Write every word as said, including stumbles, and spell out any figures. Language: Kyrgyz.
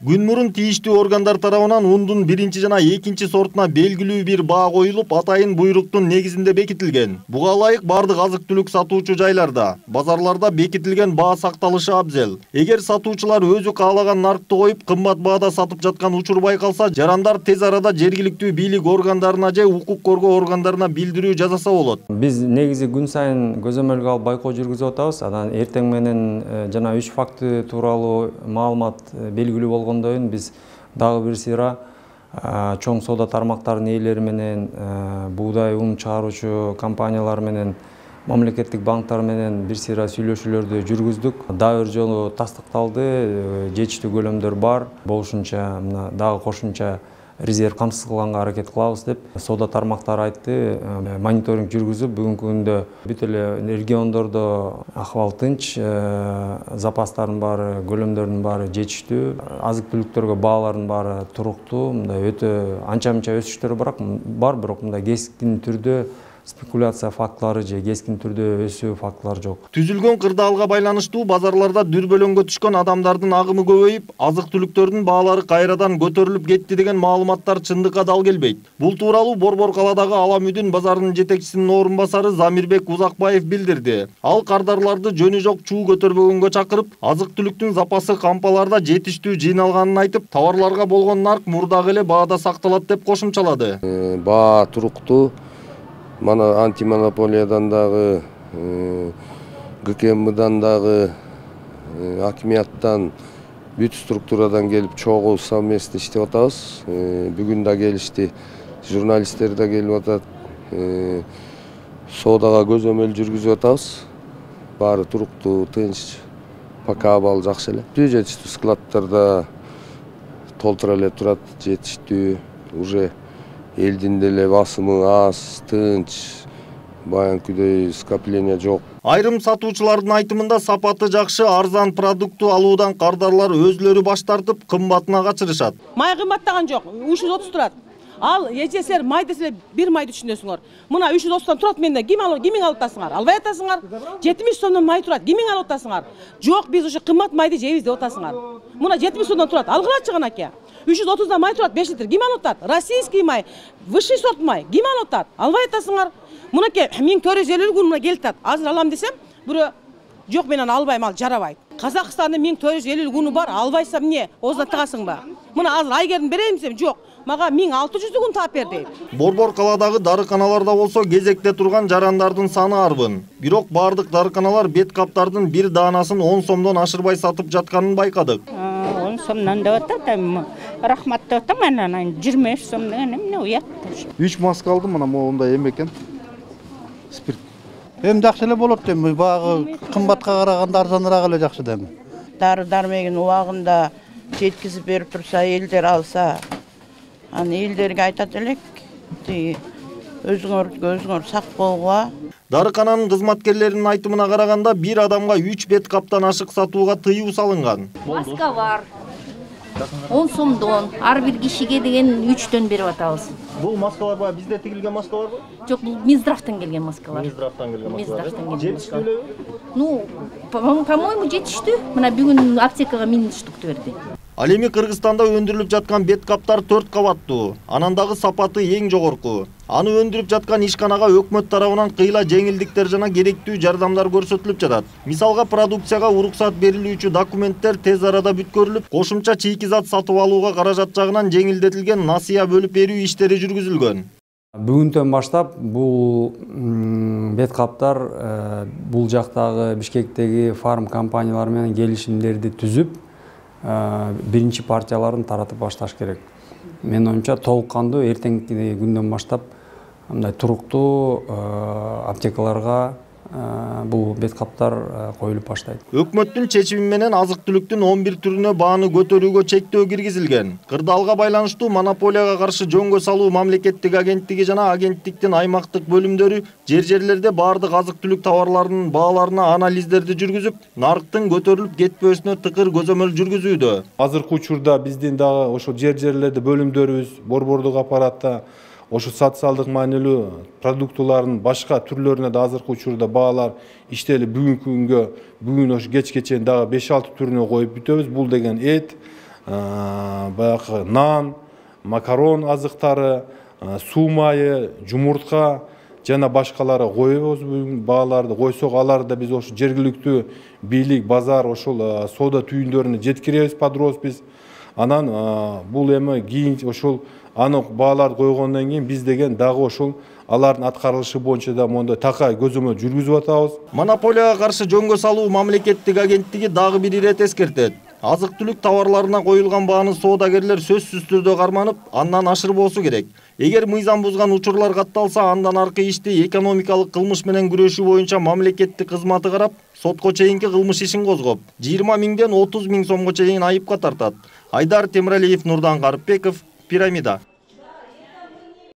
Күн мурун тийиштүү органдар тарабынан ундун биринчи жана экинчи сортуна белгилүү бир баа коюлуп, атайын буйруктун негизинде бекитилген. Буга ылайык бардык азык-түлүк сатуучу жайларда, базарларда бекитилген баа сакталышы абзел. Эгер сатуучулар өзү каалаган наркты коюп, кымбат баада сатып жаткан учур байкалса, жарандар тез арада жергиликтүү бийлик органдарына же укук коргоо органдарына билдирүү жасаса болот. Биз негизи күн сайын көзөмөлгө алып байкоо жүргүзүп атабыз. Анан эртең менен жана үч факты тууралуу маалымат белгилүү болгондон биз дагы бир сыйра чоң соода тармактарынын ээлери менен, буудай ун чыгаруучу компаниялар менен, мамлекеттик банктар менен бир сыйра сүйлөшүүлөрдү жүргүздүк. Дагы бир жолу тастыкталды, жетиштүү көлөмдөр бар. Болушунча мына дагы кошумча резерв камсыз кылганга аракет кылабыз деп соода тармактары айтты. Мониторинг жүргүзүп, бүгүнкү күндө бүт эле региондордо акыбал тынч, запастардын баары, көлөмдөрдүн баары жетиштүү, азык-түлүктөргө баалардын баары туруктуу, мындай өтө анча-мынча өсүштөр бар, бирок мындай кескин түрдө спекуляция фактылары же кескин түрдө өсүү фактылары жок. Түзүлгөн кырдаалга байланыштуу базарларда дүрбөлөңгө түшкөн адамдардын агымы көбөйүп, азык-түлүктөрдүн баалары кайрадан көтөрүлүп кетти деген маалыматтар чындыкка дал келбейт. Бул тууралуу Борбор калаадагы Аламүдүн базарынын жетекчисинин орун басары Замирбек Узакбаев билдирди. Ал кардарларды жөнү жок чуу көтөрбөгөнгө чакырып, азык-түлүктүн запасы кампаларда жетиштүү жыйналганын айтып, товарларга болгон нарк мурдагы эле баада сакталат деп кошумчалады. Баа туруктуу. Мана антимонополиядан дагы, ГКМдан дагы, акимияттан, бүт структурадан келип чогуу совместно иштеп атабыз. Бүгүн да келишти, журналисттер да келип атат. Соодага көзөмөл жүргүзүп атабыз. Баары туруктуу, тынч, пока абал жакшы эле. Жетиштүү складтарда толтура эле турат, жетиштүү, уже элдин деле басымы аз, тынч, баянкыдай скопление жок. Айрым сатуучулардын айтымында сапаты жакшы, арзан продукту алуудан кардарлар өзлөрү баш тартып, кымбатына качырышат. Май кымбаттаган жок, үч жүз отуз турат. Ал эжесер май десе бир майды түшүнөсүңөр. Мына үч жүз отуздон турат менде. Ким алып, кимиң алып атасыңар? Албай атасыңар. жетимиш сомдон май турат. Кимиң алып атасыңар? Жок, биз ушу кымбат майды жейбиз деп атасыңар. Мына жетимиш сомдон турат. Алгылачы канаке. үч жүз отуздан май турат, беш литр. Ким алып атат? Российский май, высший сорт май. Ким алып атат? Албай атасыңар. Мынакей миң төрт жүз элүү күн келип атат. Азыр алам десем, бирөө жок мен аны албайм, ал жарабайт. Казакстандын миң төрт жүз элүү күнү бар, албайсам эмне? Оозуна тыгасыңбы? Мына азыр айгердин берейин десем, жок. Мага миң алты жүз күн таап бер дейт. Борбор калаадагы дарыканаларда болсо кезекте турган жарандардын саны арбын. Бирок бардык дарыканалар бет каптардын бир даанасын он сомдон ашырбай сатып жатканын байкадык. он сомдон деп атат, рахмат деп атам, анан жыйырма беш сом деген эмне уят. үч маска алдым, мына моундай эме экен. Спирт. Эми жакшы эле болот эми, багы кымбатка караганда арзаныраак эле жакшы дем. Дары-дармегин убагында жеткизип берип турса, элдер алса, аны элдерге айтат элек, өзүңөр өзүңөр сак болгула. Дарыкананын кызматкерлеринин айтымына караганда бир адамга үч бет каптан ашык сатууга тыюу салынган. Маска бар. он сомдон, ар бир кишиге деген үчтөн берип атабыз. Бул маскалар бар, бизде тигилген маскаларбы? Жок, бул Минздравтан келген маскалар. Минздравтан келген маскалар. Жетиштүү? Ну, по-моему, жетиштүү. Мына бүгүн аптекага миң штукту берди. Ал эми Кыргызстанда өндүрүлүп жаткан бет каптар төрт кабаттуу. Анан дагы сапаты эң жогорку. Аны өндүрүп жаткан ишканага өкмөт тарабынан кыйла жеңилдиктер жана керектүү жардамдар көрсөтүлүп жатат. Мисалга продукцияга уруксат берилүүчү документтер тез арада бүткөрүлүп, кошумча чийки зат сатып алууга каражат жагынан жеңилдетилген насыя бөлүп берүү иштери жүргүзүлгөн. Бүгүндөн баштап бул бет каптар бул жактагы Бишкектеги фарм компаниялар менен келишимдерди түзүп, биринчи партияларын таратып башташ керек. Менин оюмча толук кандуу эртеңки күндөн баштап мындай туруктуу аптекаларга бул бет каптар коюлуп баштайт. Өкмөттүн чечими менен азык-түлүктүн он бир түрүнө бааны көтөрүүгө чектөө киргизилген. Кырдаалга байланыштуу монополияга каршы жөнгө салуу мамлекеттик агенттиги жана агенттиктин аймактык бөлүмдөрү жер-жерлерде бардык азык-түлүк товарларынын бааларына анализдерди жүргүзүп, нарктын көтөрүлүп кетпөөсүнө тыкыр көзөмөл жүргүзүүдө. Азыркы учурда биздин дагы ошо жер-жерлерде бөлүмдөрүбүз, борбордук аппаратта ошо социалдык маанилүү продуктулардын башка түрлөрүнө да азыркы учурда баалар иштелип, бүгүнкү күнгө бүгүн ошо кечке чейин дагы беш алты түрүнө коюп бүтөбүз. Бул деген эт, баягы нан, макарон азыктары, суу майы, жумуртка жана башкалары коебуз. Бааларды койсок, аларды биз ошо жергиликтүү бийлик, базар, ошол соода түйүндөрүнө жеткиребиз под роспись. Анан бул эми кийин ошол аны бааларды койгондон кийин биз деген дагы ошол алардын аткарылышы боюнча да мондай такай көзөмөл жүргүзүп атабыз. Монополияга каршы жөнгө салуу мамлекеттик агенттиги дагы бир ирет эскертет. Азык-түлүк товарларына коюлган бааны соодагерлер сөзсүз түрдө карманып, андан ашырбоосу керек. Эгер мыйзам бузган учурлар катталса, андан аркы ишти экономикалык кылмыш менен күрөшүү боюнча мамлекеттик кызматы карап, сотко чейинки кылмыш ишин козгоп, жыйырма миңден отуз миң сомго чейин айыпка тартат. Айдар Темиралиев, Нурдан Карыпбеков, Пирамида.